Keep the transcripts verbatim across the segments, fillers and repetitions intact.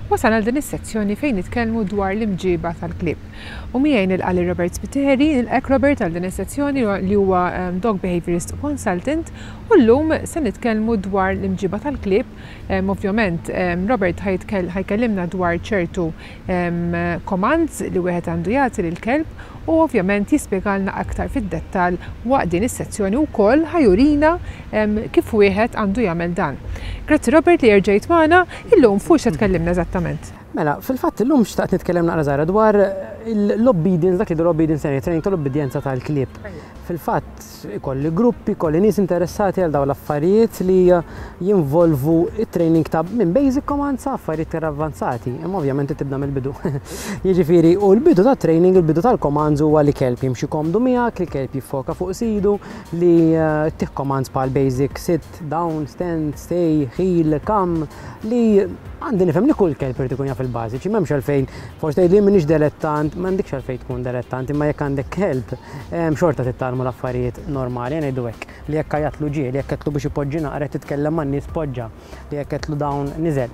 Wasalna għal din is-sezzjoni fejn nitkellmu dwar l-imġiba tal-klieb. U miegħi nilqa' lil Robert Spiteri, nilqek, Robert, għal din is-sezzjoni, li huwa um, dog behaviorist consultant, u llum se nitkellmu dwar l-imġiba tal-klieb. Um, ovvjament um, Robert ħa jkellimna dwar ċertu um, commands li wieħed għandu jagħti lill-kelb u ovvjament jispjegalna aktar fid-dettall waqt din is-sezzjoni, wkoll ħa jurina um, kif wieħed għandu jagħmel dan. Grazzi, Robert, li erġajt magħna. Illum fuq x'se tkellimna eżattament? Mela, fil-fatt illum xtaqt nitkellem naqra żgħira dwar l-obedience, dak li l-obedience training, tal-obbedjenza tal-klieb. Fil-fatt ikolli gruppi, ikolli nies interessati għal dawn l-affarijiet li jinvolvu it-training ta' minn basic commands sa affarijiet iktar avvanzati. Imma ovvjament tibda mill-bidu. Jiġifieri, u l-bidu ta' training, il-bidu tal-commands huwa li kelb jimxi komdu miegħek, li kelb jiffoka fuq sidu, li eh, ttih commands bħal basic sit, down, stand, stay, heel, come, li għandi nifhem li kull kelb irid ikun jaf il-bażiċi, m'hemmx għalfejn, forsi tgħid li m'iniex dilettant, m'għandekx għalfejn tkun dilettant, imma jekk għandek kelb, xorta titgħallmu l-affarijiet normali, ngħidu hekk, li jekk għajjatlu ġie, li jekk għedtlu biex ipoġġi naqra, titkellem man-nies poġġa, li jekk għedtlu down niżel.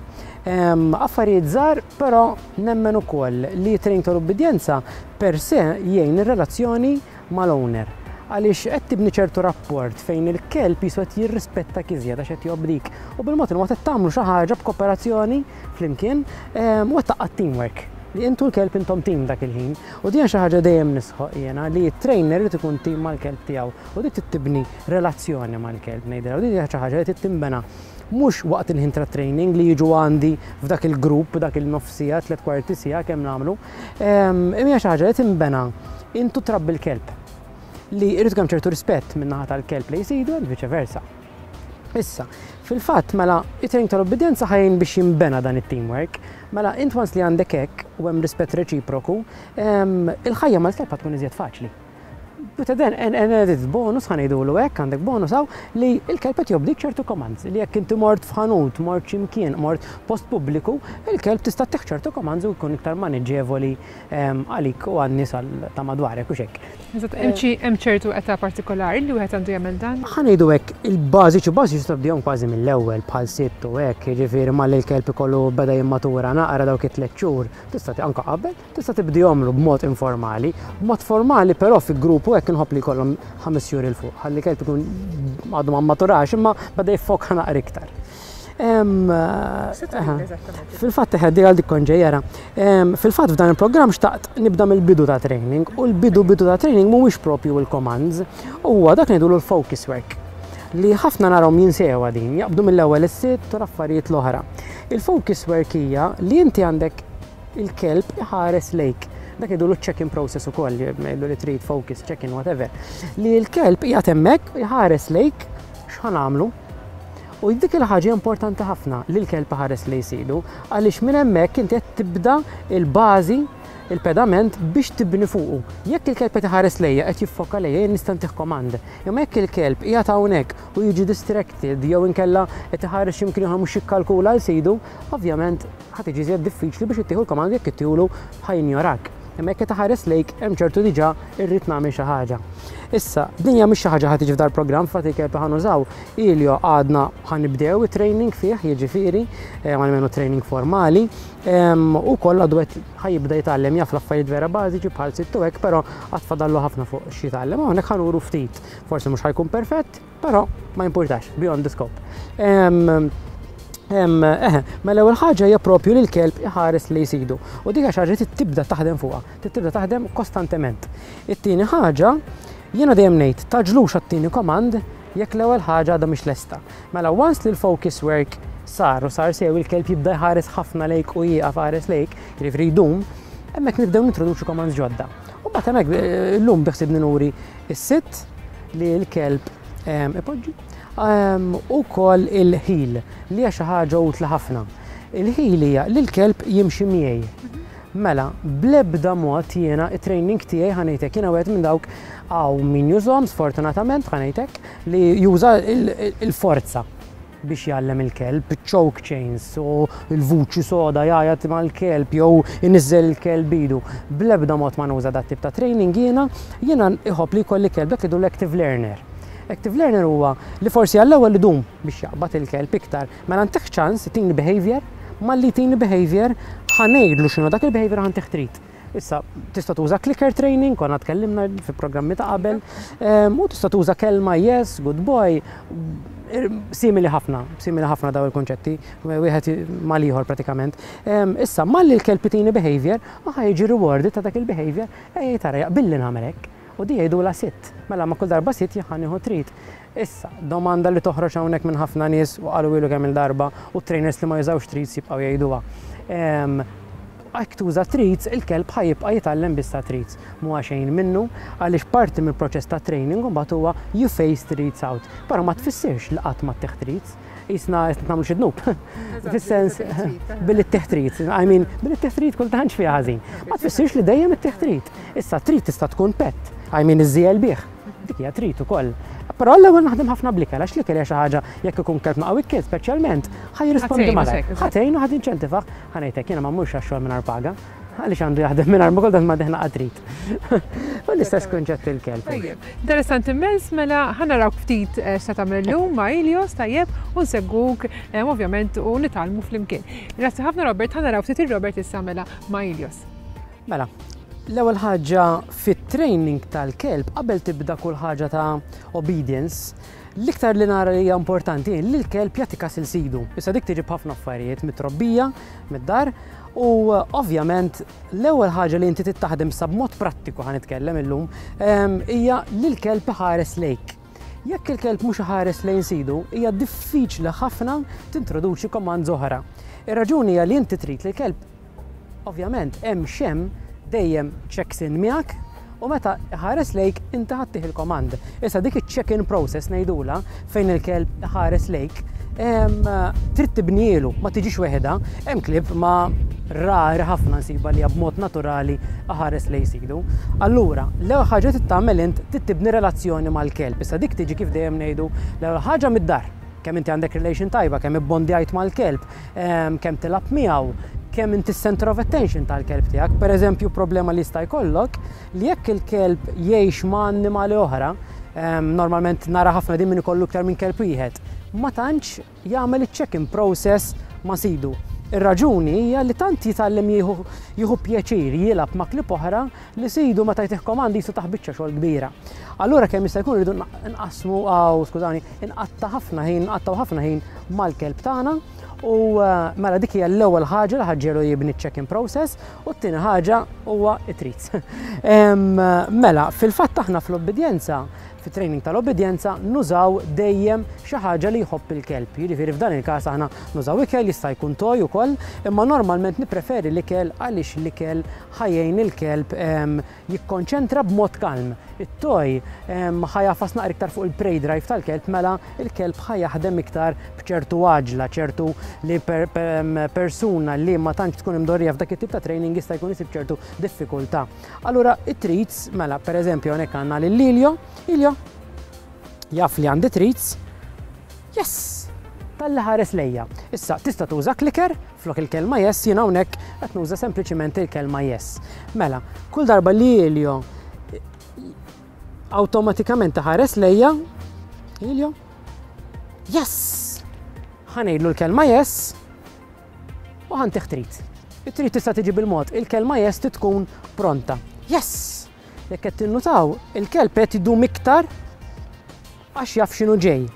Affarijiet żgħar, però nemmen ukoll li training tal-obbedjenza per se jgħin ir-relazzjoni mal-owner, għaliex qed tibni ċertu rapport fejn il-kelb qisu qed jirrispetta iżjed għax qed jobdik. U bil-mod il-mod qed tagħmlu xi ħaġa b'kooperazzjoni flimkien u qed taqgħad teamwork li intu l-kelb intom team dak il-ħin. U din xi ħaġa dejjem nisħoq jiena, li t-trainer irid ikun team mal-kelb tiegħu u dik tibni relazzjoni mal-kelb, ngħidilha, u din xi ħaġa li tinbena mhux waqt il-ħin ta' training li jiġu għandi f'dak il-grupp, dak il-nofsija, tliet kwarti siegħa kemm nagħmlu. Imma xi ħaġa li tinbena intu trabbi l-kelb, li jrid kemm ċertu rispett min-naħa tal-kelb li jsidu and vice versa. Issa, fil-fatt mela, it-training tal-obbedjenza ħa jgħin biex jimbena dan it-teamwork. Mela, int once li għandek hekk u hemm rispett reċiproku, il-ħajja mal-kelb tkun iżjed faċli. But then, an added bonus, ħa ngħidulu hekk, għandek bonus hawn li il-kelb qed jobdik ċertu commands, li jekk inti mort f'ħanut, mort x'imkien, mort post pubbliku, il-kelb tista' ttih ċertu commands u jkun iktar maniġevoli għalik u għan-nies ta' madwarek u xek. Hemm ċertu età partikolari li wieħed għandu jagħmel dan? Ħa ngħidu hekk, il-bażiċi bażiċi tibdihom kważi mill-ewwel, bħal sitt u hekk, jiġifieri malli l-kelb ikollu beda jimmatura naqra dawk it-tliet xhur, tista' anke qabel, tista' tibdihomlu b'mod informali, b'mod formali però fi grupp u hekk inħobb li jkollhom ħames xhur 'il fuq, ħalli kelb ikun għadu ma maturax imma beda jiffoka naqra iktar. Fil-fatt ħeddi għal dik konġejjera. Fil-fatt f'dan il-programm xtaqt nibda mill-bidu ta' training, u l-bidu bidu ta' training mhuwiex propju il-commands, huwa dak ngħidulu l-focus work, li ħafna narahom jinsewa din, jaqbdu mill-ewwel is-sit u l-affarijiet l-oħra. Il-focus work hija li inti għandek il-kelb iħares lejk. Dak jgħidu check-in process ukoll, jgħidu li treat, focus, check-in, whatever. Li l-kelb qiegħed hemmhekk iħares lejk x'ħa nagħmlu. U dik il-ħaġa importanti ħafna li l-kelb iħares lejn sidu, għaliex minn hemmhekk inti qed tibda il-bażi, il-pedament biex tibni fuqu. Jekk il-kelb qed iħares lejja, qed jiffoka lejja, jien nista' ntih command. Imma jekk il-kelb qiegħed hawnhekk u jiġi distracted jew inkella qed iħares x'imkien ieħor, mhux jikkalkula l sidu, ovvjament ħa tiġi iżjed diffiċli biex ittieħu l-command, jekk ittieħulu ħa jinjorak. Imma jekk qed iħares lejk, hemm ċertu diġà irrid nagħmel xi ħaġa. Issa, din hija mhix xi ħaġa ħa tiġi f'dar programm fatt il-kelb ħa nużaw. Ilio għadna ħa nibdew it-training fih, jiġifieri, għalmenu training formali, u koll għadu qed ħa jibda jitgħallem, jaf l-affarijiet vera bażiċi bħal sit u hekk, però għad fadallu ħafna fuq xi jitgħallem. Hawnhekk ħa nuru ftit, forsi mhux ħa jkun perfett, però ma jimpurtax, beyond the scope. Eħe, mela l-ewwel ħaġa hija propju li l-kelb iħares lejn sidu. U dik xi ħaġa tibda taħdem fuqha, tibda taħdem kostantement. It-tieni ħaġa, jiena dejjem ngħid tgħaġġlux għat-tieni command jekk l-ewwel ħaġa għadha mhix lesta. Mela once li l-focus work sar u sar sew, il-kelb jibda jħares ħafna lejk u jieqaf ħares lejk, jiġifieri jdum, hemmhekk nibdew nintroduċu commands ġodda. U mbagħad hemmhekk eh, llum biħsibni nuri is-sit li l-kelb ipoġġi u koll il-heel, li hija xi ħaġa utli ħafna. Il-heel hija li l-kelb jimxi miegħi. Mela, bl-ebda mod jiena it-training tiegħi, ħa ngħidlek, jiena wieħed minn dawk, hawn min jużhom sfortunatament, ħa ngħidlek, li juża il-forza biex jgħallem il-kelb, choke chains u il-vuċi soda jgħajjat mal-kelb jew iniżżel il-kelb idu. Bl-ebda mod ma nuża dat tip ta' training jiena, jiena iħobb li jkolli kelb dak li l-active learner. Active learner huwa li forsi għall-ewwel idum biex jaqbad il-kelb iktar, mela ntih ċans tini behavior. Malli jtini behavior, ħa ngħidlu x'inhu dak il-behavior, ħa ntih treat. Issa, tista' tuża clicker training, konna tkellimna fi programmi ta' qabel, u tista' tuża kelma yes, good boy, simili ħafna, simili ħafna daw il-konċetti, wieħed mal-ieħor pratikament. Issa, malli l-kelb itini behavior, ħa jiġi rewarded ta' dak il-behavior, ej tara jaqbilli nagħmel hekk. U di jgħidulha sit, mela ma kull darba sit ħa nieħu treat. Issa, domanda li toħroġ hawnhekk minn ħafna nies u qalu ilu kemm il-darba u trainers li ma jużawx treats jibqgħu jgħiduha. Jekk tuża treats, il-kelb ħa jibqa' jitgħallem biss treats. Mhu xejn minnu, għaliex parti mill-proċess ta' training mbagħad huwa you phase treats out. Però ma tfissirx li qatt ma ttih treats. Jisna nagħmlu xi dnub. Fis-sens billi ttih treats. I mean, billi ttih treat kultant fiha ħażin. Ma tfissirx li dejjem ittih treat. Issa treat tista' tkun pet. I mean, iż-żiel bih. Dik hija treat ukoll. Però l-ewwel naħdem ħafna bl-ikel, għax l-ikel hija xi ħaġa jekk ikun kelb naqaw ikel speċjalment, ħa jirrispondi malajr. Ħa tgħinu, ħa tinċentivah, ħa ngħidlek jiena ma mmurx għax-xogħol mingħajr paga. Għaliex għandu jaħdem mingħajr ma kultant ma deħna treat. U l-istess kunċett il-kelb. Interessanti immens, mela ħa naraw ftit eh, x'ta tagħmel illum ma' Ilios, tajjeb, u nsegwuk eh, ovvjament u nitgħallmu flimkien. Grazzi ħafna, Robert, ħa naraw ftit il-Robert issa mela ma' Ilios. Mela, l-ewwel ħaġa fit-training tal-kelb, qabel tibda kull ħaġa ta' obedience, l-iktar li nara li hija importanti li l-kelb jagħti kas il sidu. Issa dik tiġi b'ħafna affarijiet mit-trobbija, mid-dar, u ovvjament l-ewwel ħaġa li inti tittaħdem sa b'mod prattiku ħa nitkellem illum hija li l-kelb iħares lejk. Jekk il-kelb mhux iħares lejn sidu, hija diffiċli ħafna tintroduċi komand oħra. Ir-raġuni hija li inti trid li l-kelb ovvjament hemm xem dejjem checks in miegħek u meta ħares lejk inti ħa ttih il-komand. Issa dik iċ-check-in process ngħidula, fejn il-kelb ħares lejk, trid tibnielu, ma tiġix weħda. Hemm klieb ma rari ħafna nsiba li b'mod naturali ħares lejn sidu. Allura, l-ewwel ħaġa trid tagħmel int trid tibni relazzjoni mal-kelb. Issa dik tiġi, kif dejjem ngħidu, l-ewwel ħaġa mid-dar. Kemm inti għandek relation tajba, kemm ibbondjajt mal-kelb, kemm tilgħab miegħu, kemm inti center of attention tal-kelb tiegħek. Per eżempju, problema li jista' jkollok li jekk il-kelb jgħix ma' annimali oħra, normalment nara ħafna din min ikollu iktar minn kelb wieħed, ma tantx jagħmel iċ-check-in process ma' sidu. Ir-raġuni hija li tant jitgħallem jieħu pjaċir jilgħab ma' klieb oħra li sidu meta jtih komandi jisu taħbiċċa xogħol kbira. Allura kemm jista' jkun rridu nqasmu għaw, skużani, inqatta' ħafna ħin, nqattaw ħafna ħin mal-kelb tagħna. U eh, mela dik hija l-ewwel ħaġa li ħa ġġiegħlu jibni check-in process u t-tieni ħaġa huwa it-treats. Mela, fil-fatt aħna fl-obbedjenza, fit-training tal-obbedjenza, nużaw dejjem xi ħaġa li jħobb il-kelb. Jiġifieri f'dan il-każ aħna nużaw ikel, jista' jkun toy ukoll, imma normalment nippreferi l-ikel għaliex l-ikel ħa jgħin il-kelb jikkonċentra b'mod kalm. It-toy ħa jagħfas naqra iktar fuq il-prey drive tal-kelb, mela il-kelb ħa jaħdem iktar b'ċertu għaġla, ċertu li persuna li ma tantx tkun imdorrija f'dak it-tip ta' training jista' jkun isib ċertu diffikultà. Allura it-treats, mela per eżempju hawnhekk għandna lil Ilio, Ilio jaf li għandi treats, yes, talli ħares lejja. Issa, tista' tuża clicker, flok il-kelma yes, jiena hawnhekk qed nuża sempliċiment il-kelma yes. Mela, kull darba li Ilio awtomatikament ħares lejja, Ilio, yes! Ħa ngħidlu l-kelma yes u ħa ntih treat. It-treat tista' tiġi bil-mod, il-kelma yes tkun pronta. Yes! Jekk qed tinnutaw, il-kelb qed idum iktar għax jaf x'inhu ġej.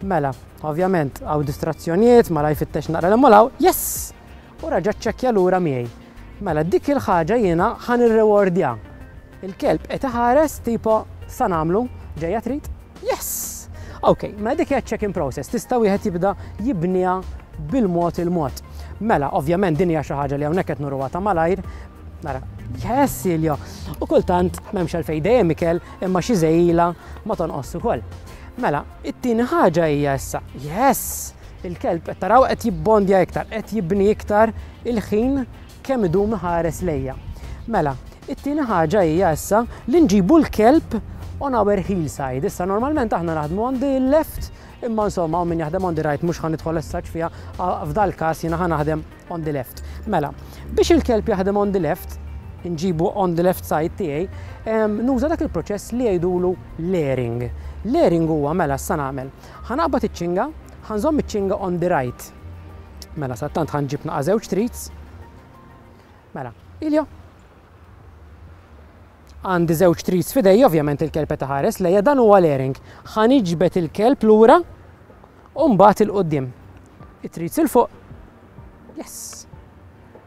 Mela, ovvjament, hawn distrazzjonijiet, mela jfittex naqra l yes! U raġa ċċekkja lura miegħi. Mela, dik il-ħaġa jiena ħa nirrewardja. Il-kelb qed iħares tipo sa nagħmlu, ġejja treat? Yes! Ok, mela dik hija check-in process, tista' wieħed jibda jibniha bil-mod il-mod. Mela, ovvjament din hija xi ħaġa li hawnhekk qed nuruha ta' malajr. Nara, yes, Siljo. U kultant m'hemmx għalfejn dejjem ikel, imma xi żejla ma tonqos ukoll. Mela, it-tieni ħaġa hija issa, yes, il-kelb qed taraw qed jibbondja iktar, qed jibni iktar il-ħin kemm idum ħares lejja. Mela, it-tieni ħaġa hija issa li nġibu l-kelb on our heel side. Issa normalment aħna naħdmu on the left, imma insomma min jaħdem on the right, mhux ħa nidħol issa fiha, f'dal każ jiena ħa naħdem on the left. Mela, biex il-kelb jaħdem on the left, nġibu on the left side tiegħi, nuża dak il-proċess li jgħidulu layering. Layering huwa mela sa nagħmel. Ħa naqbad iċ-ċinga, ħa nżomm iċ-ċinga on the right. Mela, sadanittant ħa nġib naqa żewġ treats. Mela, Iljo. Għandi żewġ treats f'idejja, ovvjament il-kelb qed iħares lejja, dan huwa l-airing. Ħa niġbed il-kelb lura u mbagħad 'il quddiem. It-treats 'il fuq. Yes.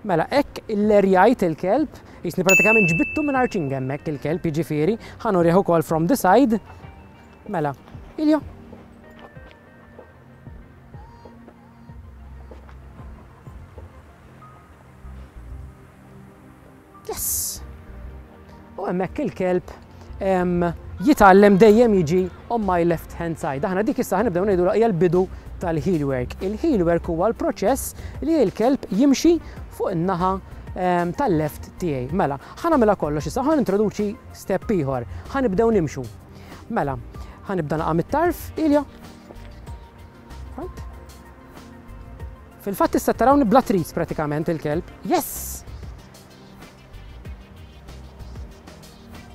Mela, hekk illerjajt il-kelb, jisni pratikament ġbidtu minn ċinga hemmhekk il-kelb, jiġifieri, ħa nurih ukoll from the side. Mela, Iljo. Yes! U hemmhekk il-kelb jitgħallem dejjem jiġi on my left hand side. Aħna dik issa ħa nibdew ngħidu hija l-bidu tal-heel work. Il-heel work huwa l-proċess li l-kelb jimxi fuq in-naħa tal-left tiegħi. Mela, ħa nagħmilha kollox issa, ħa nintroduċi step ieħor. Ħa nibdew nimxu. Mela, ħa nibda naqa' mit-tarf, Ilja. Front. Fil-fatt issa tarawni bla treats pratikament il-kelb. Yes!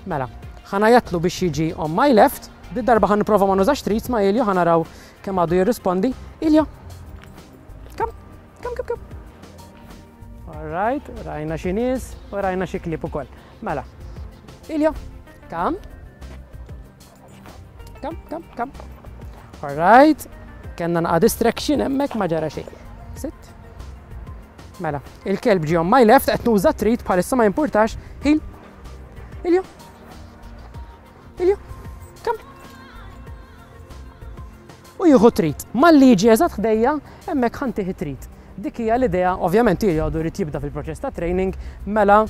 Mela, ħa ngħajjatlu biex jiġi on my left, di darba ħa nipprova ma nużax treats ma' Iljo, ħa naraw kemm għadu jirrispondi. Iljo, come, come, come, come. All right, rajna xi nies u rajna xi klieb ukoll. Mela, Iljo, come. Come, come, come. All right, kellna naqa distraction hemmhekk ma ġara xejn. Sit. Mela, il-kelb ġie on my left, qed nuża treat bħalissa ma jimpurtax. Heel. Iljo. Iljo, come. U jieħu treat. Malli jiġi eżatt ħdejja, hemmhekk ħa ntih treat. Dik hija l-idea, ovvjament Iljo għadu jrid jibda fil-proċess ta' training, mela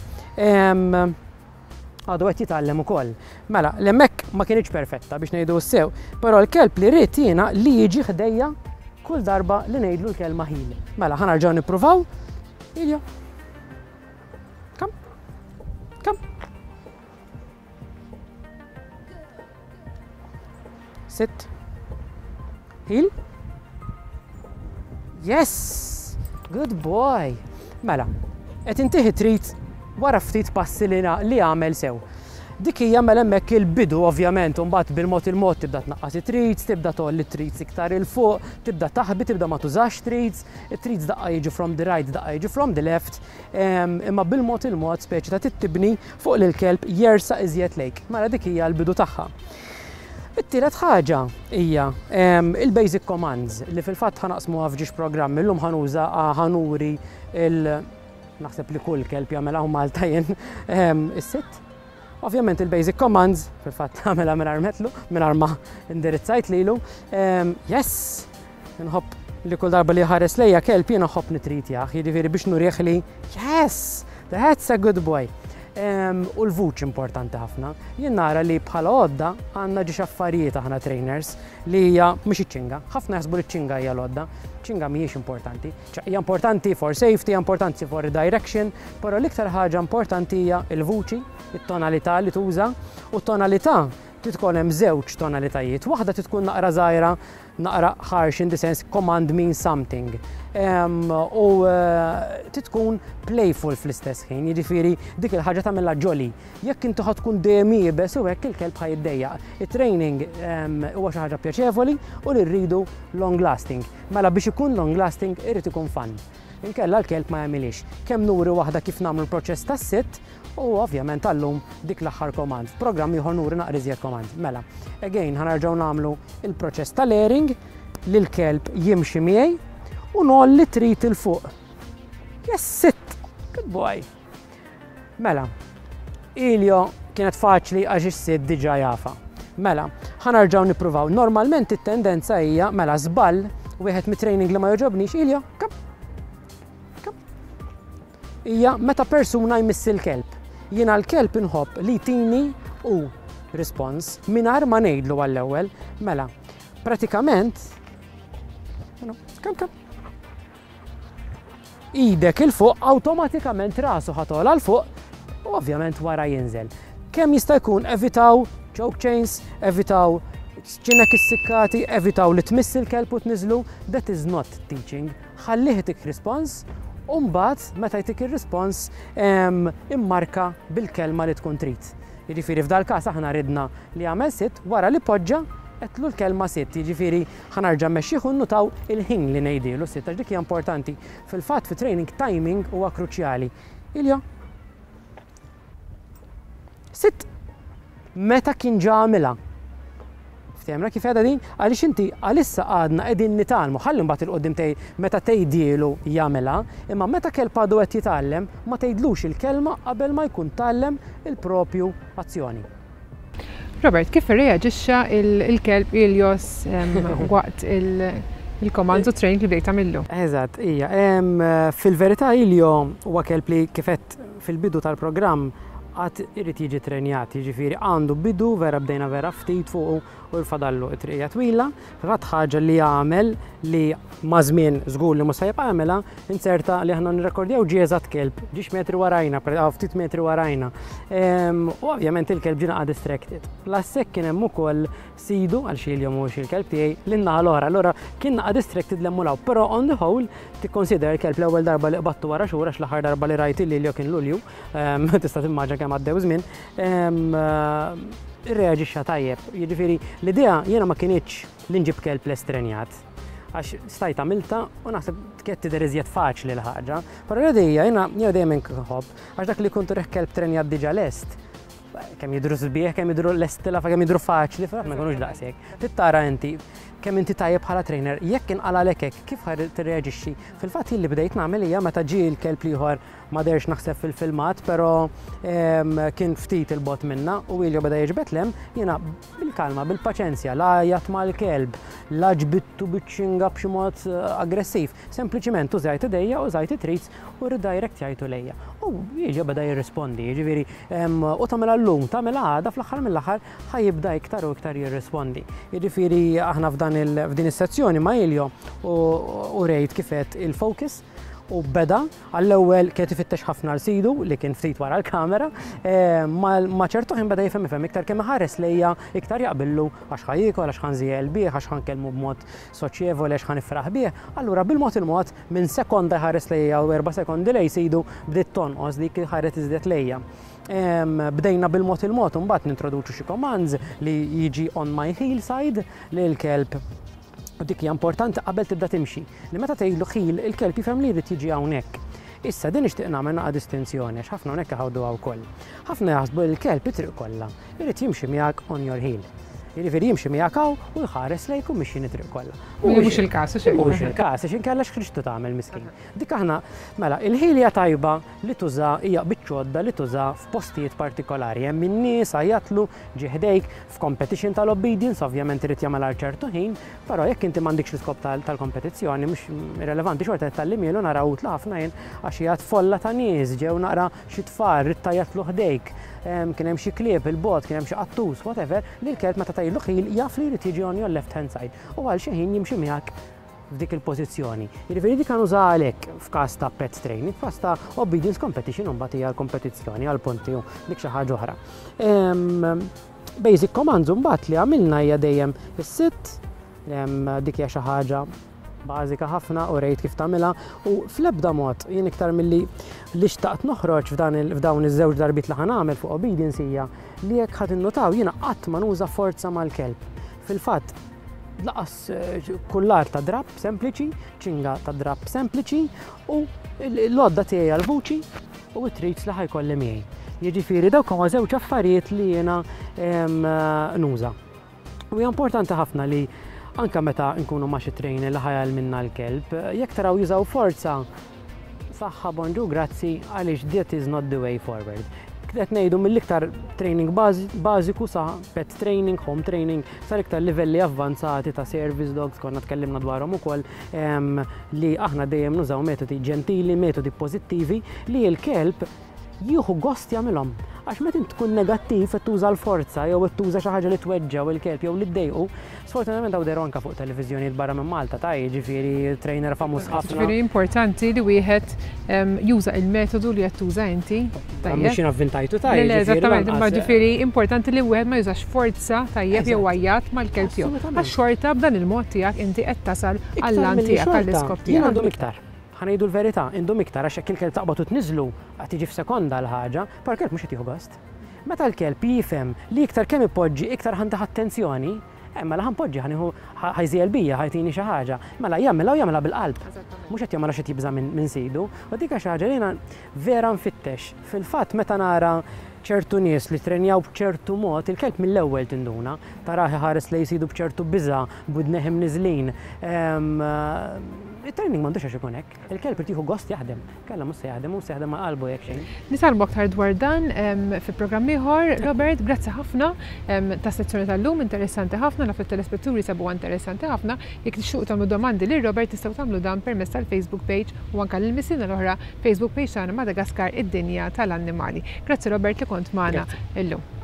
għadu qed jitgħallem ukoll. Mela, l-hemmhekk ma kienx perfetta biex ngħidu sew, però l-kelb li rrid jiena li jiġi ħdejja kull darba li ngħidlu l-kelma heel. Mela, ħa nerġgħu nippruvaw. Iljo. Come. Come. Sit. Heel. Yes! Good boy! Mela, qed intih treat wara ftit passi li li għamel sew. Dik hija mela hemmhekk il-bidu ovvjament, u mbagħad bil-mod il-mod tibda tnaqqas it-treats, tibda tgħolli treats iktar 'il fuq, tibda taħbi, tibda ma tużax treats, it-treats daqqa jiġu from the right, daqqa jiġu from the left, imma bil-mod il-mod speċi ta' tittibni fuq li l-kelb jersa iżjed lejk. Mela dik hija l-bidu tagħha. It-tielet ħaġa hija il-basic commands li fil-fatt ħa naqsmuha f'ġiex programmi. Illum ħa nuża ħa nuri il naħseb li kull kelb jagħmilha Malta jien is-sit. Ovvjament il-basic commands, fil-fatt għamilha mingħajr metlu, mingħajr ma indirizzajt lilu. Yes! Nħobb li kull darba li ħares lejja kelb jiena nħobb nitritjah, jiġifieri biex nurih li yes, that's a good boy. U l-vuċi importanti ħafna. Jien nara li bħala għodda għandna ġiex affarijiet aħna trainers li hija mhux iċ-ċinga. Ħafna jaħsbu li ċ-ċinga hija l-għodda. Ċinga mhijiex importanti. Hija importanti for safety, hija importanti for direction, però l-iktar ħaġa importanti hija l-vuċi, it-tonalità li tuża, u t-tonalità tkun hemm żewġ tonalitajiet. Waħda tkun naqra żgħira, naqra harsh in the sense command means something. U tkun playful fl-istess ħin, jiġifieri dik il-ħaġa tagħmilha jolly. Jekk inti ħa tkun dejjem iebes u hekk il-kelb ħa jiddejjaq. It-training huwa xi ħaġa pjaċevoli u li rridu long lasting. Mela biex ikun long lasting irid ikun fun. Inkella l-kelb ma jagħmilix. Kemm nuri waħda kif nagħmlu l-proċess tas-sit u ovvjament għallum dik l-aħħar command. F'programm ieħor nuri naqra iżjed command. Mela, again ħa nerġgħu nagħmlu il-proċess tal-airing li l-kelb jimxi miegħi u ngħolli treat 'il fuq. Yes, sit! Good boy! Mela, Iljo kienet faċli għax is-sit diġà jafa. Mela, ħa nerġgħu nippruvaw. Normalment it-tendenza hija mela żball wieħed mit-training li ma jogħġobnix, Iljo, come. Hija meta persuna jmiss il-kelb. Jiena l-kelb inħobb li jtini u response mingħajr ma ngħidlu għall-ewwel. Mela, pratikament, come, come. Idek 'il fuq awtomatikament rasu ħa tola 'l fuq u ovvjament wara jinżel. Kemm jista' jkun evitaw choke chains, evitaw ċinek issikkati, evitaw li tmiss il-kelb u tniżlu, that is not teaching. Ħallih jtik response, u mbagħad meta jtik ir-respons immarka bil-kelma li tkun trid. Jiġifieri f'dal każ aħna ridna li jagħmel sit wara li poġġa Għedtlu l-kelma "sit", jiġifieri ħa nerġa' mmexxih u nnutaw il-ħin li ngħidilu "sit", għax dik hija importanti. Fil-fatt, fi training, timing huwa kruċjali. Iljo. "Sit." Meta kien ġa għamilha. Ftehemna kif għedha din? Għaliex inti għalissa għadna qegħdin nitgħallmu, ħalli mbagħad 'il quddiem tej meta tgħidielu jagħmilha, imma meta kelb għadu qed jitgħallem, ma tgħidlux il-kelma qabel ma jkun tgħallem il-propju azzjoni. Robert, kif reaġixxa il-kelb Ilios waqt il-command u training li bdejt tagħmillu? Eżatt, ija. Fil-verità, Ilio huwa kelb li, kif għedt fil-bidu tal-programm, għad irid jiġi trenjat, jiġifieri għandu bidu vera, bdejna vera ftit fuq u l-fadallu it-triqija twila. Fil-fatt, ħaġa li għamel li ma' żmien żgur li mhux se jibqa' jagħmilha, inserta li aħna nirrekordjaw, ġie eżatt kelb, ġiex metri warajna, ftit metri warajna. U ovvjament il-kelb ġie naqra distracted. Plus kien hemm ukoll sidu, għal xi jom mhux il-kelb tiegħi, lin-naħa l-oħra, allura kien naqra distracted l-emmulaw, però on the whole tikkonsider il-kelb l-ewwel darba li qbattu wara xhur, għax l-aħħar darba li rajt li kien Lulju, tista' timmaġina kemm għaddew żmien, irreaġixxa tajjeb. Jiġifieri l-idea jiena ma kinitx li nġib kelb lest trenjat, għax stajt għamilta u naħseb kienet tidher iżjed faċli l-ħaġa. Però l-idea jiena jiena dejjem nħobb, għax dak li kuntu reħ kelb trenjat diġà lest, kemm jidru sbieħ, kemm jidru lestila, kemm jidru faċli, fa ma jkunux daqshekk. Tittara inti kemm inti tajjeb bħala trainer, jekk inqala hekk, kif tirreaġixxi. Fil-fatt, li bdejt nagħmel hija meta ġie l-kelb ieħor, ma derx naħseb fil-filmat, però kien ftit il-bogħod minna u Ilio beda jiġbed lem, jiena bil-kalma, bil-paċenzja, la għajjatt mal-kelb, la ġbittu biċ-ċinga b'xi mod eh, aggressiv. Sempliċiment użajt idejja, użajt it-treats u redirect jajtu lejja. U Ilio beda jirrispondi, jiġifieri u tagħmilha llum, tagħmilha għada, fl-aħħar mill-aħħar ħa jibda iktar u iktar jirrispondi. Jiġifieri aħna f'dan f'din is-sezzjoni ma' Ilio u rejt kif għedt il-focus u beda għall-ewwel kien ifittex ħafna l sidu li kien ftit wara l-kamera, eh, ma ċertu ħin beda jifhem ifhem iktar kemm ħares lejja iktar jaqbillu, għax ħa jiekol, għax ħa nżiegħel bih, għax ħa nkellmu b'mod soċjevoli, għax ħa nifraħ bih. Allura bil-mod il-mod, minn sekonda ħares lejja u erba' sekondi lej sidu, bdiet tonqos dik ħaret iżdiet lejja. Bdejna bil-mod il-mod mbagħad nintroduċu xi commands li jiġi on my heel side li l-kelb. U dik hija importanti qabel tibda timxi. Li meta tgħidlu "heel", il-kelb jifhem li jrid jiġi hawnhekk. Issa din nixtieq nagħmel naqa' distinzjoni, għax ħafna hawnhekk iħawdu wkoll. Ħafna jaħsbu li l-kelb it-triq kollha irid jimxi miegħek on your heel. Jiġifieri jimxi miegħek hawn u jħares lejk u mixi it-triq kollha. Mhux il-każ. Mhux il-każ, għax inkella x'ħriġtu tagħmel, miskin? Dik aħna, mela, il-heel hija tajba li tuża, hija biċċodda li tuża f'postijiet partikolari. Hemm in-nies, għajjatlu, ġie ħdejk, f'competition tal-obedience, ovvjament irid jagħmel għal ċertu ħin, però jekk inti m'għandikx l-iskop tal-kompetizzjoni, mhux irrelevanti, xorta tal-limielu naraw utla ħafna jien, għax qiegħed folla ta' nies, ġew naqra xi tfal, ridt tgħajjatlu ħdejk, kien hemm xi klieb il-bogħod, kien hemm xi qattus, whatever, li l-kelb meta tgħidlu "heel" jaf li jrid jiġi on your left hand side u għal xi ħin jimxi miegħek f'dik il-pożizzjoni. Jiġifieri dik nuża għalhekk f'każ ta' pet training, f'każ ta' obedience competition mbagħad hija l-kompetizzjoni għal punti u dik xi ħaġa oħra. Basic commands mbagħad li għamilna hija dejjem is-"sit", dik hija xi ħaġa bażika ħafna u rejt kif tagħmilha, u fl-ebda mod jien iktar milli li xtaqt noħroġ f'dawn iż-żewġ darbiet li ħa nagħmel fuq obedience hija li jekk ħadd innotaw, jiena qatt ma nuża forza mal-kelb. Fil-fatt, lanqas eh, kullar ta' drap sempliċi, ċinga ta' drap sempliċi u l-għodda tiegħi għal-vuċi u t-treats li ħa jkolli miegħi. Jiġifieri dawk huma żewġ affarijiet li jiena nuża. U hija importanti ħafna li anka meta nkunu ma' xi trainer li ħa jgħallimna l-kelb, jekk taraw jużaw forza, saħħa, bonġu, grazzi, għaliex that is not the way forward. Qed ngħidu mill-iktar training bażiku sa pet training, home training, sa iktar livelli avvanzati ta' service dogs, konna tkellimna dwarhom ukoll, li aħna dejjem nużaw metodi ġentili, metodi pożittivi li l-kelb jieħu gost jagħmilhom. Għax meta int tkun negattiv, qed tuża l-forza jew qed tuża xi ħaġa li tweġġaw il-kelb jew li ddejqu, sfortunatament hawn deru anke fuq televiżjonijiet barra minn Malta ta', jiġifieri trainer famuż ħafna. Ġifieri importanti li wieħed juża il-metodu li qed tuża inti. Mhux jien avvintajtu ta' Le, eżattament, imma ġifieri importanti li wieħed ma jużax forza, tajjeb, jew għajjat mal-kelb tiegħu. Għax xorta b'dan il-mod tiegħek inti qed tasal għall-għan tiegħek, għall-iskop tiegħek. Jien għandhom iktar. Ħa ngħidu l-verità, indum iktar, għax jekk il-kelb taqbad u tniżlu, qed tiġi f'sekonda l-ħaġa, par kelb mhux qed jieħu gost. Meta l-kelb jifhem li iktar kemm ipoġġi iktar ħa ntih attenzjoni, Eh, mela ħa npoġġi, ħa nieħu, ħa jżiegħel bija, ħa jtini xi ħaġa. Mela jagħmilha u jagħmilha bil-qalb. Mhux qed jagħmilha xi jibża' minn sidu. U dik xi ħaġa li jiena vera nfittex. Fil-fatt, meta nara ċertu nies li trenjaw b'ċertu mod, il-kelb mill-ewwel tinduna, tarah ħares lejn sidu b'ċertu biża, b'widnejh imniżżlin. Il-training m'għandux għax ikun hekk. Il-kelb irid jieħu gost jaħdem. Kella mhux se jaħdem, mhux se jaħdem ma' qalbu jekk xejn. Nitkellmu aktar dwar dan fi programm ieħor. Robert, grazzi ħafna ta' sezzjoni tal-lum, interessanti ħafna, naf it-telespettaturi sabu interessanti ħafna. Jekk tixtiequ tagħmlu domandi lil Robert, tistgħu tagħmlu dan permezz tal-Facebook page u anke lil mistiedna l-oħra, Facebook page tagħna, Madagaskar id-dinja tal-annimali. Grazzi, Robert, li kont magħna illum.